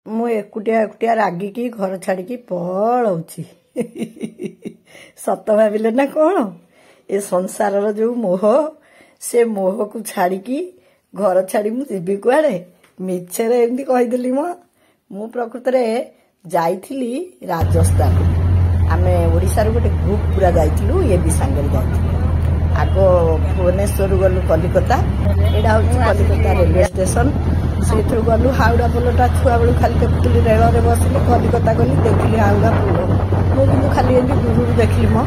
ମୁଁ ଏକୁଟିଆ ଏକୁଟିଆ ରାଗିକି ଘର ଛାଡ଼ିକି ପଳଉଛି। ସତ ଭାବିଲେ ନା କ'ଣ? ଏ ସଂସାରର ଯୋଉ ମୋହ, ସେ ମୋହକୁ ଛାଡ଼ିକି ଘର ଛାଡ଼ି ମୁଁ ଯିବି କୁଆଡ଼େ? ମିଛରେ ଏମିତି କହିଦେଲି ମ। ମୁଁ ପ୍ରକୃତରେ ଯାଇଥିଲି ରାଜସ୍ଥାନ। ଆମେ ଓଡ଼ିଶାରୁ ଗୋଟେ ଗ୍ରୁପ ପୁରା ଯାଇଥିଲୁ, ଇଏ ବି ସାଙ୍ଗରେ ଯାଇଥିଲୁ। ଆଗ ଭୁବନେଶ୍ୱରରୁ ଗଲୁ କଲିକତା। ଏଇଟା ହେଉଛି କଲିକତା ରେଲୱେ ଷ୍ଟେସନ। ସେଇଥିରୁ ଗଲୁ ହାଉଡ଼ା ପୋଲଟା ଛୁଆବେଳୁ ଖାଲି ଦେଖୁଥିଲି। ରେଳରେ ବସିଲି, କଲିକତା ଗଲି, ଦେଖିଲି ହାଉଡ଼ା ପୋଲ। ମୁଁ କିନ୍ତୁ ଖାଲି ଏମିତି ଦୂରରୁ ଦେଖିଲି ମ।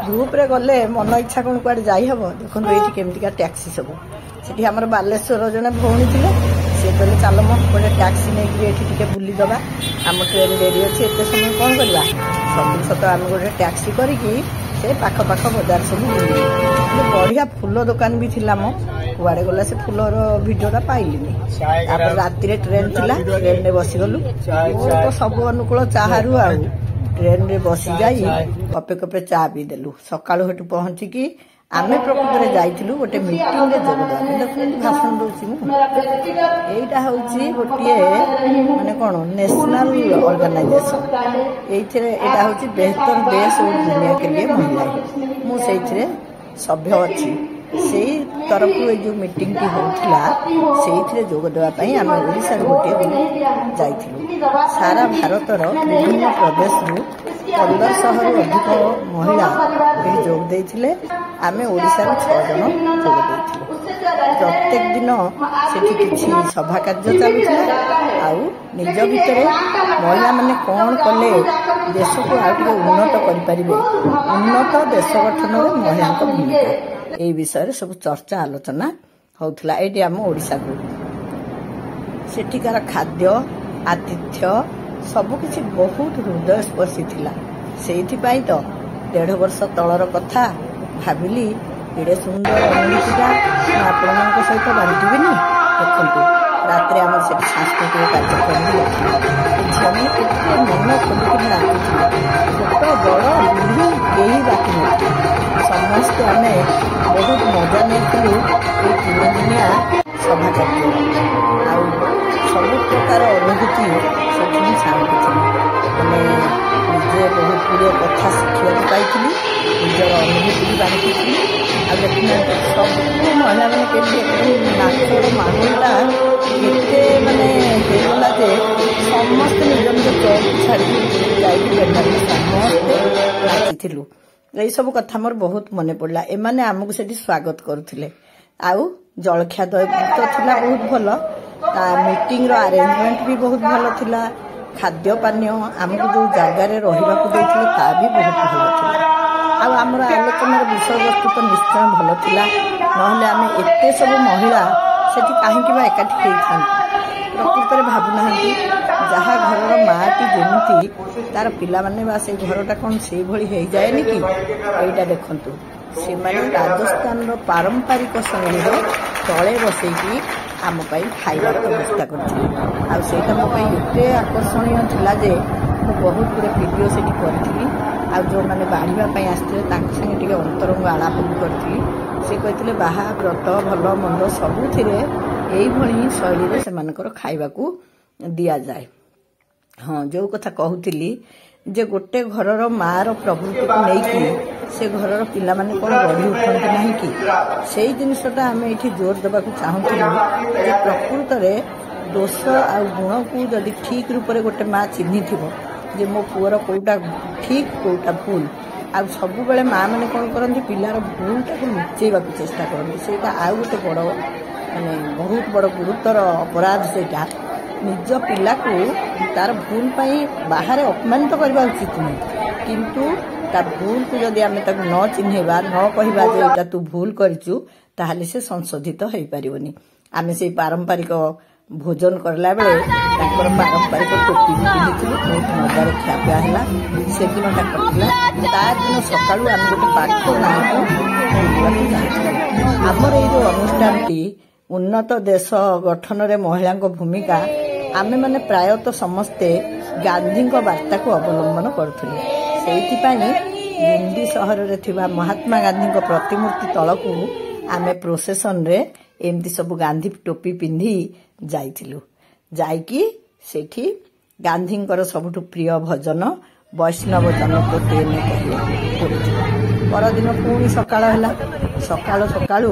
ଗ୍ରୁପରେ ଗଲେ ମନ ଇଚ୍ଛା କ'ଣ କୁଆଡ଼େ ଯାଇହବ? ଦେଖନ୍ତୁ ଏଇଠି କେମିତିକା ଟ୍ୟାକ୍ସି ସବୁ। ସେଠି ଆମର ବାଲେଶ୍ୱର ଜଣେ ଭଉଣୀ ଥିଲେ, ସିଏ କହିଲେ ଚାଲ ମ ଗୋଟେ ଟ୍ୟାକ୍ସି ନେଇକିରି ଏଠି ଟିକେ ବୁଲିଦେବା, ଆମ ଟ୍ରେନ୍ ଡେରି ଅଛି, ଏତେ ସମୟ କ'ଣ କରିବା। ସବୁ ସତ, ଆମେ ଗୋଟେ ଟ୍ୟାକ୍ସି କରିକି ସେ ପାଖ ପାଖ ବଜାର ସବୁ ବୁଲିଲୁ। ବଢ଼ିଆ ଫୁଲ ଦୋକାନ ବି ଥିଲା ମ, କୁଆଡ଼େ ଗଲା ସେ ଫୁଲର ଭିଡ଼ିଓଟା ପାଇଲିନି। ତାପରେ ରାତିରେ ଟ୍ରେନ୍ ଥିଲା, ଟ୍ରେନ୍ରେ ବସିଗଲୁ। ମୋର ତ ସବୁ ଅନୁକୂଳ ଚାହାରୁ, ଆଉ ଟ୍ରେନ୍ରେ ବସି ଯାଇ କପେ କପେ ଚା ପିଇଦେଲୁ। ସକାଳୁ ସେଠୁ ପହଞ୍ଚିକି ଆମେ ପ୍ରକୃତରେ ଯାଇଥିଲୁ ଗୋଟେ ମିଟିଂରେ ଯୋଗ ଦେବା ପାଇଁ। ଦେଖନ୍ତୁ ଭାଷଣ ଦଉଛି ମୁଁ। ଏଇଟା ହେଉଛି ଗୋଟିଏ ମାନେ କ'ଣ ନ୍ୟାସନାଲ ଅର୍ଗାନାଇଜେସନ। ଏଇଥିରେ ଏଇଟା ହେଉଛି ବେହତର ଦେଶ ଓ ଦୁନିଆ କେ ଲିଏ ମହିଳା। ମୁଁ ସେଇଥିରେ ସଭ୍ୟ ଅଛି। ସେଇ ତରଫରୁ ଏଇ ଯୋଉ ମିଟିଂଟି ହେଉଥିଲା, ସେଇଥିରେ ଯୋଗ ଦେବା ପାଇଁ ଆମେ ଓଡ଼ିଶାରୁ ଗୋଟିଏ ଯାଇଥିଲୁ। ସାରା ଭାରତର ବିଭିନ୍ନ ପ୍ରଦେଶରୁ 1500ରୁ ଅଧିକ ମହିଳା ଏଠି ଯୋଗ ଦେଇଥିଲେ। ଆମେ ଓଡ଼ିଶାରୁ 6 ଜଣ ଯୋଗ ଦେଇଥିଲୁ। ପ୍ରତ୍ୟେକ ଦିନ ସେଠି କିଛି ସଭା କାର୍ଯ୍ୟ ଚାଲୁଥିଲା, ଆଉ ନିଜ ଭିତରେ ମହିଳାମାନେ କ'ଣ କଲେ ଦେଶକୁ ଆଉ ଟିକେ ଉନ୍ନତ କରିପାରିବେ, ଉନ୍ନତ ଦେଶ ଗଠନରେ ମହିଳାଙ୍କ ଭୂମିକା, ଏଇ ବିଷୟରେ ସବୁ ଚର୍ଚ୍ଚା ଆଲୋଚନା ହଉଥିଲା। ଏଇଠି ଆମ ଓଡ଼ିଶା ଗ୍ରୁପ। ସେଠିକାର ଖାଦ୍ୟ, ଆତିଥ୍ୟ ସବୁକିଛି ବହୁତ ହୃଦୟସ୍ପର୍ଶୀ ଥିଲା। ସେଇଥିପାଇଁ ତ 1.5 ବର୍ଷ ତଳର କଥା ଭାବିଲି, ଏଡ଼େ ସୁନ୍ଦର ଅନୁଭୂତିଟା ମୁଁ ଆପଣମାନଙ୍କ ସହିତ ବାଣ୍ଟିବିନି? ଦେଖନ୍ତୁ, ରାତିରେ ଆମର ସେଠି ସାଂସ୍କୃତିକ କାର୍ଯ୍ୟକ୍ରମ ବି ଅଛି। ଝିଅମାନେ କେତେ ମନ ଖୋଲିକି ନାଚୁଥିଲେ, ଛୋଟ ବଡ଼ ବୁଢ଼ୀ କେହି ବାକି ନଥିଲେ। ସମସ୍ତେ ଆମେ ବହୁତ ମଜା ନେଇଥିଲୁ ଏଇ 3 ଦିନିଆ ସଭା କାର୍ଯ୍ୟରେ, ଆଉ ସବୁ ପ୍ରକାର ଅନୁଭୂତି ସେଠି ମୁଁ ସାଉଁଟିଥିଲି। ମାନେ ନିଜେ ବହୁତ ଗୁଡ଼ିଏ କଥା ଶିଖିବାକୁ ପାଇଥିଲି, ନିଜର ଅନୁଭୂତି ବି ବାଣ୍ଟିଥିଲି। ଆଉ ଦେଖୁନାହାନ୍ତି ସବୁ ମହିଳାମାନେ କେମିତି ଏକଦମ ନାଚର ମାହୋଲଟା ଏତେ ମାନେ ହେଇଗଲା ଯେ ସମସ୍ତେ ନିଜ ନିଜ ଚୌକି ଛାଡ଼ିକି ଯାଇକି ପେଣ୍ଡାଲରେ ସମସ୍ତେ ନାଚିଥିଲୁ। ଏଇସବୁ କଥା ମୋର ବହୁତ ମନେ ପଡ଼ିଲା। ଏମାନେ ଆମକୁ ସେଠି ସ୍ୱାଗତ କରୁଥିଲେ, ଆଉ ଜଳଖିଆ ତ ଥିଲା ବହୁତ ଭଲ, ତା ମିଟିଂର ଆରେଞ୍ଜମେଣ୍ଟ ବି ବହୁତ ଭଲ ଥିଲା, ଖାଦ୍ୟ ପାନୀୟ, ଆମକୁ ଯୋଉ ଜାଗାରେ ରହିବାକୁ ଦେଇଥିଲେ ତା ବି ବହୁତ ଭଲ ଥିଲା, ଆଉ ଆମର ଆଲୋଚନାର ବିଷୟବସ୍ତୁ ତ ନିଶ୍ଚୟ ଭଲ ଥିଲା, ନହେଲେ ଆମେ ଏତେ ସବୁ ମହିଳା ସେଠି କାହିଁକି ବା ଏକାଠି ହେଇଥାନ୍ତୁ? ପ୍ରକୃତରେ ଭାବୁନାହାନ୍ତି, ଯାହା ଘରର ମାଟି ଯେମିତି ତାର ପିଲାମାନେ ବା ସେଇ ଘରଟା କ'ଣ ସେଇଭଳି ହେଇଯାଏନି କି? ଏଇଟା ଦେଖନ୍ତୁ, ସେମାନେ ରାଜସ୍ଥାନର ପାରମ୍ପରିକ ଶୈଳୀର ତଳେ ବସେଇକି ଆମ ପାଇଁ ଖାଇବାର ବ୍ୟବସ୍ଥା କରିଥିଲେ, ଆଉ ସେଇଟା ମୋ ପାଇଁ ଏତେ ଆକର୍ଷଣୀୟ ଥିଲା ଯେ ମୁଁ ବହୁତ ଗୁଡ଼ିଏ ଭିଡ଼ିଓ ସେଠି କରିଥିଲି। ଆଉ ଯେଉଁମାନେ ବାଢ଼ିବା ପାଇଁ ଆସିଥିଲେ ତାଙ୍କ ସାଙ୍ଗେ ଟିକେ ଅନ୍ତରଙ୍ଗ ଆଳାପ ବି କରିଥିଲି। ସେ କହିଥିଲେ ବାହା ବ୍ରତ ଭଲ ମନ୍ଦ ସବୁଥିରେ ଏଇଭଳି ହିଁ ଶୈଳୀରେ ସେମାନଙ୍କର ଖାଇବାକୁ ଦିଆଯାଏ। ହଁ, ଯୋଉ କଥା କହୁଥିଲି ଯେ ଗୋଟେ ଘରର ମାଆର ପ୍ରବୃତ୍ତିକୁ ନେଇକି ସେ ଘରର ପିଲାମାନେ କ'ଣ ଗଢ଼ି ଉଠନ୍ତି ନାହିଁ କି? ସେଇ ଜିନିଷଟା ଆମେ ଏଇଠି ଜୋର ଦେବାକୁ ଚାହୁଁଥିଲୁ ଯେ ପ୍ରକୃତରେ ଦୋଷ ଆଉ ଗୁଣକୁ ଯଦି ଠିକ୍ ରୂପରେ ଗୋଟେ ମା ଚିହ୍ନିଥିବ ଯେ ମୋ ପୁଅର କୋଉଟା ଠିକ୍ କୋଉଟା ଭୁଲ। ଆଉ ସବୁବେଳେ ମା ମାନେ କ'ଣ କରନ୍ତି? ପିଲାର ଭୁଲଟାକୁ ଲୁଚେଇବାକୁ ଚେଷ୍ଟା କରନ୍ତି। ସେଇଟା ଆଉ ଗୋଟେ ବଡ଼ ମାନେ ବହୁତ ବଡ଼ ଗୁରୁତର ଅପରାଧ ସେଇଟା। ନିଜ ପିଲାକୁ ତାର ଭୁଲ ପାଇଁ ବାହାରେ ଅପମାନିତ କରିବା ଉଚିତ ନୁହେଁ, କିନ୍ତୁ ତା ଭୁଲକୁ ଯଦି ଆମେ ତାକୁ ନ ଚିହ୍ନେଇବା, ନ କହିବା ଯେ ଏଇଟା ତୁ ଭୁଲ କରିଛୁ, ତାହେଲେ ସେ ସଂଶୋଧିତ ହେଇପାରିବନି। ଆମେ ସେଇ ପାରମ୍ପରିକ ଭୋଜନ କରିଲା ବେଳେ ତାଙ୍କର ପାରମ୍ପରିକ ଟୋପି ବି ପିନ୍ଧିଥିଲୁ। ବହୁତ ମଜାରେ ଖିଆପିଆ ହେଲା, ସେଦିନଟା କଟିଲା। ତା ଦିନ ସକାଳୁ ଆମେ ଗୋଟେ ପାଖ ଗାଁକୁ ବୁଲିବାକୁ ଯାଇଥିଲୁ। ଆମର ଏଇ ଯୋଉ ଅନୁଷ୍ଠାନଟି ଉନ୍ନତ ଦେଶ ଗଠନରେ ମହିଳାଙ୍କ ଭୂମିକା, ଆମେମାନେ ପ୍ରାୟତଃ ସମସ୍ତେ ଗାନ୍ଧୀଙ୍କ ବାର୍ତ୍ତାକୁ ଅବଲମ୍ବନ କରୁଥିଲୁ। ସେଇଥିପାଇଁ ବୁନ୍ଦି ସହରରେ ଥିବା ମହାତ୍ମା ଗାନ୍ଧୀଙ୍କ ପ୍ରତିମୂର୍ତ୍ତି ତଳକୁ ଆମେ ପ୍ରୋସେସନରେ ଏମିତି ସବୁ ଗାନ୍ଧୀ ଟୋପି ପିନ୍ଧି ଯାଇଥିଲୁ। ଯାଇକି ସେଠି ଗାନ୍ଧୀଙ୍କର ସବୁଠୁ ପ୍ରିୟ ଭଜନ ବୈଷ୍ଣବ ଜନ ତୋ ତେନେ କହିଲେ ପଡ଼ିଯିବ। ପରଦିନ ପୁଣି ସକାଳ ହେଲା। ସକାଳୁ ସକାଳୁ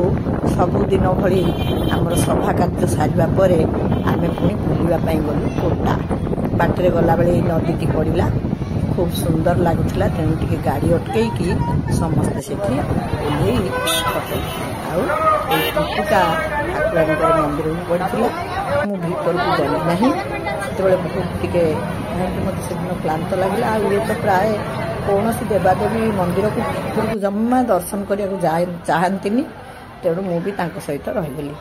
ସବୁଦିନ ଭଳି ଆମର ସଭା କାର୍ଯ୍ୟ ସାରିବା ପରେ ଆମେ ପୁଣି ବୁଲିବା ପାଇଁ ଗଲୁ କୋଟା। ବାଟରେ ଗଲାବେଳେ ଏଇ ନଦୀଟି ପଡ଼ିଲା, ଖୁବ୍ ସୁନ୍ଦର ଲାଗୁଥିଲା। ତେଣୁ ଟିକେ ଗାଡ଼ି ଅଟକେଇକି ସମସ୍ତେ ସେଠି ଓହ୍ଲେଇ ଫଟୋ। ଆଉ ଏଇ ଟୁକୁଟା ଠାକୁରାଣୀଙ୍କର ମନ୍ଦିରକୁ ପଡ଼ିଥିଲା। ମୁଁ ଭିତରକୁ ଗଲି ନାହିଁ ସେତେବେଳେ, ବହୁତ ଟିକେ କାହିଁକି ମୋତେ ସେଦିନ କ୍ଳାନ୍ତ ଲାଗିଲା। ଆଉ ଇଏ ତ ପ୍ରାୟ କୌଣସି ଦେବାଦେବୀ ମନ୍ଦିରକୁ ଭିତରକୁ ଜମା ଦର୍ଶନ କରିବାକୁ ଚାହାନ୍ତିନି, ତେଣୁ ମୁଁ ବି ତାଙ୍କ ସହିତ ରହିଗଲି।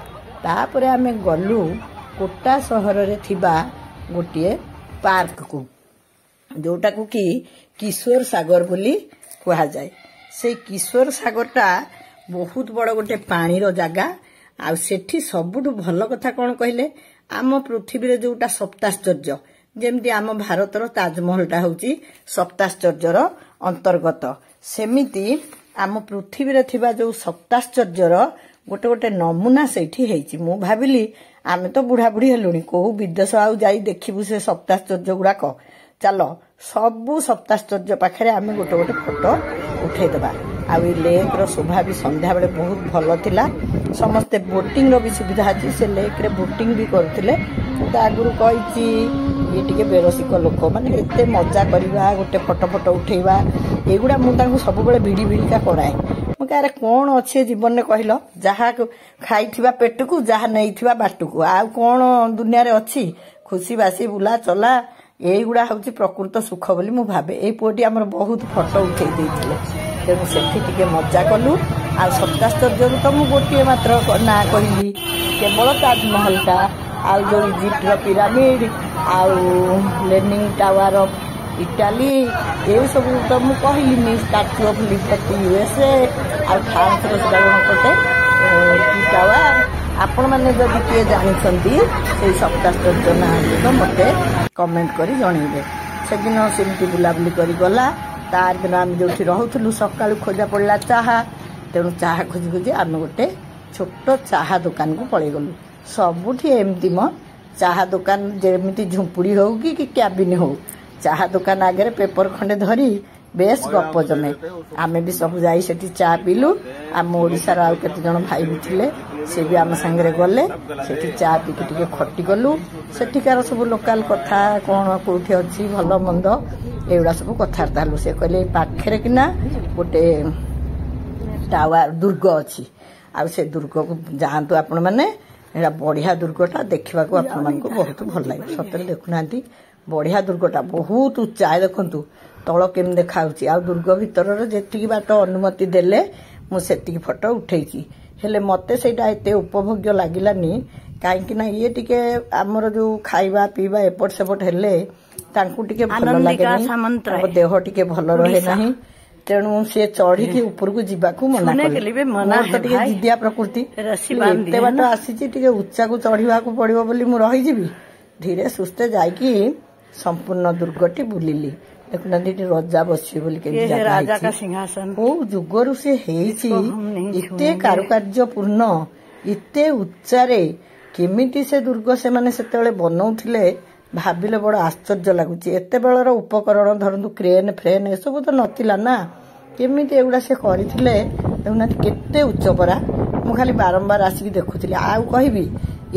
ତାପରେ ଆମେ ଗଲୁ କୋଟା ସହରରେ ଥିବା ଗୋଟିଏ ପାର୍କକୁ, ଯୋଉଟାକୁ କି କିଶୋର ସାଗର ବୋଲି କୁହାଯାଏ। ସେଇ କିଶୋର ସାଗରଟା ବହୁତ ବଡ଼ ଗୋଟେ ପାଣିର ଜାଗା। ଆଉ ସେଠି ସବୁଠୁ ଭଲ କଥା କ'ଣ କହିଲେ, ଆମ ପୃଥିବୀରେ ଯୋଉଟା ସପ୍ତାଶ୍ଚର୍ଯ୍ୟ, ଯେମିତି ଆମ ଭାରତର ତାଜମହଲଟା ହେଉଛି ସପ୍ତାଶ୍ଚର୍ଯ୍ୟର ଅନ୍ତର୍ଗତ, ସେମିତି ଆମ ପୃଥିବୀରେ ଥିବା ଯୋଉ ସପ୍ତାଶ୍ଚର୍ଯ୍ୟର ଗୋଟେ ଗୋଟେ ନମୁନା ସେଇଠି ହେଇଛି। ମୁଁ ଭାବିଲି ଆମେ ତ ବୁଢ଼ାବୁଢ଼ୀ ହେଲୁଣି, କୋଉ ବିଦେଶ ଆଉ ଯାଇ ଦେଖିବୁ ସେ ସପ୍ତାଶ୍ଚର୍ଯ୍ୟ ଗୁଡାକ, ଚାଲ ସବୁ ସପ୍ତାଶ୍ଚର୍ଯ୍ୟ ପାଖରେ ଆମେ ଗୋଟେ ଗୋଟେ ଫଟୋ ଉଠେଇଦେବା। ଆଉ ଏଇ ଲେକ୍ର ଶୋଭା ବି ସନ୍ଧ୍ୟାବେଳେ ବହୁତ ଭଲ ଥିଲା। ସମସ୍ତେ ବୋଟିଂର ବି ସୁବିଧା ଅଛି, ସେ ଲେକ୍ରେ ବୋଟିଂ ବି କରୁଥିଲେ। ମୁଁ ତ ଆଗରୁ କହିଛି, ଇଏ ଟିକେ ବେରସିକ ଲୋକ, ମାନେ ଏତେ ମଜା କରିବା, ଗୋଟେ ଫଟୋ ଫଟୋ ଉଠେଇବା, ଏଗୁଡ଼ା ମୁଁ ତାଙ୍କୁ ସବୁବେଳେ ଭିଡ଼ି ଭିଡ଼ିକା କରାଏ। ମୁଁ କାରେ କ'ଣ ଅଛି ଏ ଜୀବନରେ କହିଲ? ଯାହା ଖାଇଥିବା ପେଟକୁ, ଯାହା ନେଇଥିବା ବାଟକୁ, ଆଉ କ'ଣ ଦୁନିଆରେ ଅଛି? ଖୁସି ବାସି ବୁଲା ଚଲା, ଏଇଗୁଡ଼ା ହେଉଛି ପ୍ରକୃତ ସୁଖ ବୋଲି ମୁଁ ଭାବେ। ଏଇ ପୁଅଟି ଆମର ବହୁତ ଫଟୋ ଉଠେଇ ଦେଇଥିଲେ, ତେଣୁ ସେଠି ଟିକେ ମଜା କଲୁ। ଆଉ ସପ୍ତାଶ୍ଚର୍ଯ୍ୟରୁ ତ ମୁଁ ଗୋଟିଏ ମାତ୍ର ନାଁ କହିଲି, କେବଳ ତାଜମହଲଟା। ଆଉ ଯୋଉ ଇଜିପ୍ଟର ପିରାମିଡ ଆଉ ଲେନିଂ ଟାୱାର ଅଫ୍ ଇଟାଲୀ, ଏସବୁ ତ ମୁଁ କହିଲିନି। ଷ୍ଟାଚ୍ୟୁ ଅଫ୍ ଲିବର୍ଟି ୟୁଏସଏ, ଆଉ ଫ୍ରାନ୍ସର ସେଟା ଗୋଟେ କି ଟାୱାର। ଆପଣମାନେ ଯଦି କିଏ ଜାଣିଛନ୍ତି ସେଇ ସପ୍ତାଶ୍ଚର୍ଯ୍ୟ ନାଁ ଗୁଡ଼ିକ ମୋତେ କମେଣ୍ଟ କରି ଜଣେଇବେ। ସେଦିନ ସେମିତି ବୁଲାବୁଲି କରି ଗଲା। ତାର ଦିନ ଆମେ ଯୋଉଠି ରହୁଥିଲୁ ସକାଳୁ ଖୋଜା ପଡ଼ିଲା ଚାହା। ତେଣୁ ଚାହା ଖୋଜି ଖୋଜି ଆମେ ଗୋଟେ ଛୋଟ ଚାହା ଦୋକାନକୁ ପଳେଇଗଲୁ। ସବୁଠି ଏମିତି ମ ଚାହା ଦୋକାନ, ଯେମିତି ଝୁମ୍ପୁଡ଼ି ହଉ କି କ୍ୟାବିନ ହଉ, ଚାହା ଦୋକାନ ଆଗରେ ପେପର ଖଣ୍ଡେ ଧରି ବେଶ ଗପ ଜମେ। ଆମେ ବି ସବୁ ଯାଇ ସେଠି ଚା ପିଇଲୁ। ଆମ ଓଡ଼ିଶାର ଆଉ କେତେ ଜଣ ଭାଇ ବି ଥିଲେ, ସେ ବି ଆମ ସାଙ୍ଗରେ ଗଲେ। ସେଠି ଚା ପିଇକି ଟିକେ ଖଟି କଲୁ। ସେଠିକାର ସବୁ ଲୋକାଲ କଥା କ'ଣ, କୋଉଠି ଅଛି ଭଲ ମନ୍ଦ, ଏଗୁଡ଼ା ସବୁ କଥାବାର୍ତ୍ତା ହେଲୁ। ସେ କହିଲେ ଏଇ ପାଖରେ କିନା ଗୋଟେ ଟାୱାର ଦୁର୍ଗ ଅଛି, ଆଉ ସେ ଦୁର୍ଗକୁ ଯାଆନ୍ତୁ ଆପଣମାନେ, ଏଇଟା ବଢିଆ ଦୁର୍ଗଟା, ଦେଖିବାକୁ ଆପଣମାନଙ୍କୁ ବହୁତ ଭଲ ଲାଗିବ। ସତରେ ଦେଖୁନାହାନ୍ତି, ବଢିଆ ଦୁର୍ଗଟା, ବହୁତ ଉଚ୍ଚା। ଦେଖନ୍ତୁ ତଳ କେମିତି ଦେଖାଯାଉଛି। ଆଉ ଦୁର୍ଗ ଭିତରର ଯେତିକି ବାଟ ଅନୁମତି ଦେଲେ ମୁଁ ସେତିକି ଫଟୋ ଉଠେଇଛି। ହେଲେ ମତେ ସେଇଟା ଏତେ ଉପଭୋଗ୍ୟ ଲାଗିଲାନି, କାହିଁକି ନା ଇଏ ଟିକେ ଆମର ଯୋଉ ଖାଇବା ପିଇବା ଏପଟ ସେପଟ ହେଲେ ତାଙ୍କୁ ଟିକେ ଭଲ ଲାଗେନି, ତାଙ୍କ ଦେହ ଟିକେ ଭଲ ରହେ ନାହିଁ, ତେଣୁ ସେ ଚଢିକି ଉପରକୁ ଯିବାକୁ ମନା କଲେ। ମୋର ତ ଟିକେ ଜିଦିଆ ପ୍ରକୃତି, ଏତେ ବାଟ ଆସିଛି ଟିକେ ଉଚ୍ଚାକୁ ଚଢିବାକୁ ପଡିବ ବୋଲି ମୁଁ ରହିଯିବି? ଧୀରେ ସୁସ୍ଥେ ଯାଇକି ସମ୍ପୂର୍ଣ୍ଣ ଦୁର୍ଗଟି ବୁଲିଲି। ଦେଖୁନାହାନ୍ତି ଏଠି ରଜା ବସିବେ ବୋଲି କେମିତି ଜାଗା ହେଇଛି, କୋଉ ଯୁଗରୁ ସେ ହେଇଛି, ଏତେ କାରୁକାର୍ଯ୍ୟପୂର୍ଣ୍ଣ, ଏତେ ଉଚ୍ଚାରେ କେମିତି ସେ ଦୁର୍ଗ ସେମାନେ ସେତେବେଳେ ବନଉଥିଲେ, ଭାବିଲେ ବଡ ଆଶ୍ଚର୍ଯ୍ୟ ଲାଗୁଛି। ଏତେବେଳର ଉପକରଣ ଧରନ୍ତୁ କ୍ରେନ୍ ଫ୍ରେନ୍ ଏସବୁ ତ ନଥିଲା ନା, କେମିତି ଏଗୁଡ଼ା ସେ କରିଥିଲେ? ଦେଖୁନାହାନ୍ତି କେତେ ଉଚ୍ଚ ପରା। ମୁଁ ଖାଲି ବାରମ୍ବାର ଆସିକି ଦେଖୁଥିଲି। ଆଉ କହିବି,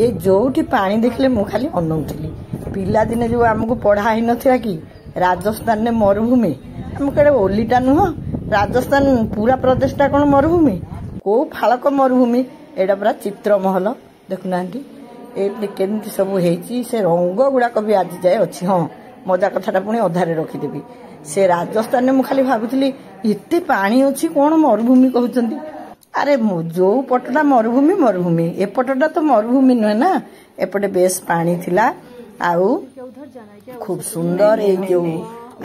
ଏ ଯୋଉଠି ପାଣି ଦେଖିଲେ ମୁଁ ଖାଲି ଅନଉଥିଲି। ପିଲାଦିନେ ଯୋଉ ଆମକୁ ପଢା ହେଇନଥିଲା କି ରାଜସ୍ଥାନରେ ମରୁଭୂମି, ଆମ କେଡ଼େ ଓଲିଟା ନୁହଁ, ରାଜସ୍ଥାନ ପୁରା ପ୍ରଦେଶଟା କ'ଣ ମରୁଭୂମି? କୋଉ ଫାଳକ ମରୁଭୂମି? ଏଇଟା ପୁରା ଚିତ୍ରମହଲ। ଦେଖୁନାହାନ୍ତି ଏମିତି କେମିତି ସବୁ ହେଇଛି, ସେ ରଙ୍ଗ ଗୁଡାକ ବି ଆଜି ଯାଏ ଅଛି। ହଁ, ମଜା କଥାଟା ପୁଣି ଅଧାରେ ରଖିଦେବି। ସେ ରାଜସ୍ଥାନରେ ମୁଁ ଖାଲି ଭାବୁଥିଲି ଏତେ ପାଣି ଅଛି, କ'ଣ ମରୁଭୂମି କହୁଛନ୍ତି? ଆରେ ଯୋଉ ପଟଟା ମରୁଭୂମି ମରୁଭୂମି, ଏପଟଟା ତ ମରୁଭୂମି ନୁହେଁ ନା, ଏପଟେ ବେଶ ପାଣି ଥିଲା। ଆଉ ଖୁବ ସୁନ୍ଦର ଏଇ ଯୋଉ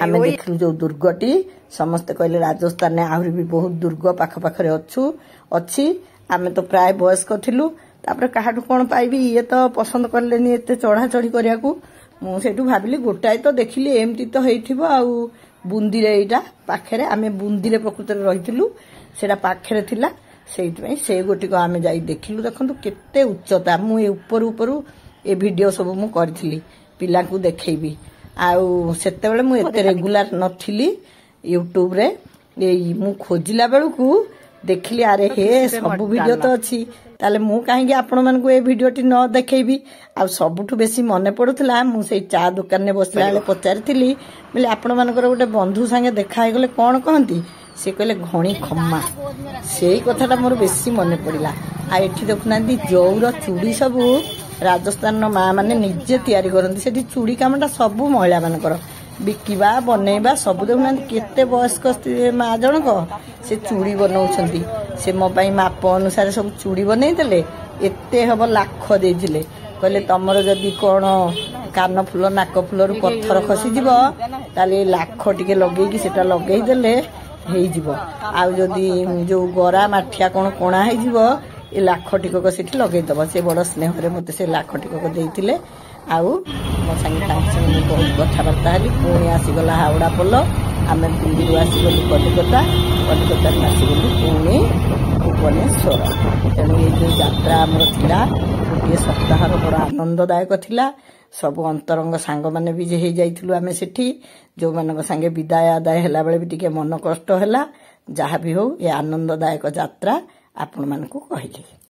ଆମେ ଦେଖିଲୁ ଯୋଉ ଦୁର୍ଗଟି, ସମସ୍ତେ କହିଲେ ରାଜସ୍ଥାନରେ ଆହୁରି ବି ବହୁତ ଦୁର୍ଗ ପାଖ ପାଖରେ ଅଛି। ଆମେ ତ ପ୍ରାୟ ବୟସ୍କ ଥିଲୁ, ତାପରେ କାହାଠୁ କ'ଣ ପାଇବି? ଇଏ ତ ପସନ୍ଦ କଲେନି ଏତେ ଚଢା ଚଢି କରିବାକୁ। ମୁଁ ସେଇଠୁ ଭାବିଲି ଗୋଟାଏ ତ ଦେଖିଲି, ଏମିତି ତ ହେଇଥିବ। ଆଉ ବୁନ୍ଦିରେ ଏଇଟା ପାଖରେ, ଆମେ ବୁନ୍ଦିରେ ପ୍ରକୃତରେ ରହିଥିଲୁ, ସେଇଟା ପାଖରେ ଥିଲା, ସେଇଥିପାଇଁ ସେ ଗୋଟିକ ଆମେ ଯାଇ ଦେଖିଲୁ। ଦେଖନ୍ତୁ କେତେ ଉଚ୍ଚତା। ମୁଁ ଏ ଉପରୁ ଉପରୁ ଏ ଭିଡ଼ିଓ ସବୁ ମୁଁ କରିଥିଲି, ପିଲାଙ୍କୁ ଦେଖେଇବି। ଆଉ ସେତେବେଳେ ମୁଁ ଏତେ ରେଗୁଲାର ନଥିଲି ୟୁଟ୍ୟୁବରେ। ଏଇ ମୁଁ ଖୋଜିଲା ବେଳକୁ ଦେଖିଲି, ଆରେ ହେ, ସବୁ ଭିଡ଼ିଓ ତ ଅଛି, ତାହେଲେ ମୁଁ କାହିଁକି ଆପଣମାନଙ୍କୁ ଏ ଭିଡ଼ିଓଟି ନ ଦେଖେଇବି? ଆଉ ସବୁଠୁ ବେଶୀ ମନେ ପଡୁଥିଲା, ମୁଁ ସେଇ ଚା ଦୋକାନରେ ବସିଲା ବେଳେ ପଚାରିଥିଲି ବୋଲେ, ଆପଣମାନଙ୍କର ଗୋଟେ ବନ୍ଧୁ ସାଙ୍ଗେ ଦେଖା ହେଇଗଲେ କ'ଣ କହନ୍ତି? ସେ କହିଲେ ଘଣି ଖମ୍ମା। ସେଇ କଥାଟା ମୋର ବେଶୀ ମନେ ପଡ଼ିଲା। ଆଉ ଏଠି ଦେଖୁନାହାନ୍ତି, ଜଉର ଚୁଡ଼ି ସବୁ ରାଜସ୍ଥାନର ମା ମାନେ ନିଜେ ତିଆରି କରନ୍ତି। ସେଠି ଚୁଡ଼ି କାମଟା ସବୁ ମହିଳାମାନଙ୍କର, ବିକିବା ବନେଇବା ସବୁ। ଦେଖୁନାହାନ୍ତି, କେତେ ବୟସ୍କ ମା ଜଣକ ସେ ଚୁଡ଼ି ବନଉଛନ୍ତି। ସେ ମୋ ପାଇଁ ମାପ ଅନୁସାରେ ସବୁ ଚୁଡ଼ି ବନେଇଦେଲେ। ଏତେ ହବ ଲାଖ ଦେଇଥିଲେ, କହିଲେ ତମର ଯଦି କ'ଣ କାନ ଫୁଲ ନାକ ଫୁଲରୁ ପଥର ଖସିଯିବ, ତାହେଲେ ଏ ଲାଖ ଟିକେ ଲଗେଇକି ସେଟା ଲଗେଇଦେଲେ ହେଇଯିବ। ଆଉ ଯଦି ଯୋଉ ଗରା ମାଠିଆ କ'ଣ କଣା ହେଇଯିବ, ଏ ଲାଖ ଟିକକ ସେଠି ଲଗେଇଦବ। ସେ ବଡ଼ ସ୍ନେହରେ ମୋତେ ସେ ଲାଖ ଟିକକ ଦେଇଥିଲେ। ଆଉ ମୋ ସାଙ୍ଗେ ତାଙ୍କ ସାଙ୍ଗେ ମୁଁ ବହୁତ କଥାବାର୍ତ୍ତା ହେଲି। ପୁଣି ଆସିଗଲା ହାୱଡ଼ା ପୋଲ। ଆମେ ପୁରୀରୁ ଆସିଗଲୁ କଲିକତା, କଲିକତାରୁ ଆସିଗଲୁ ପୁଣି ଭୁବନେଶ୍ୱର। ତେଣୁ ଏଇ ଯେଉଁ ଯାତ୍ରା ଆମର ଥିଲା, ଗୋଟିଏ ସପ୍ତାହର, ବଡ଼ ଆନନ୍ଦଦାୟକ ଥିଲା। ସବୁ ଅନ୍ତରଙ୍ଗ ସାଙ୍ଗମାନେ ବି ହେଇଯାଇଥିଲୁ ଆମେ ସେଠି, ଯେଉଁମାନଙ୍କ ସାଙ୍ଗେ ବିଦାୟ ଆଦାୟ ହେଲା ବେଳେ ବି ଟିକେ ମନ କଷ୍ଟ ହେଲା। ଯାହା ବି ହଉ, ଏ ଆନନ୍ଦଦାୟକ ଯାତ୍ରା ଆପଣମାନଙ୍କୁ କହିଲି।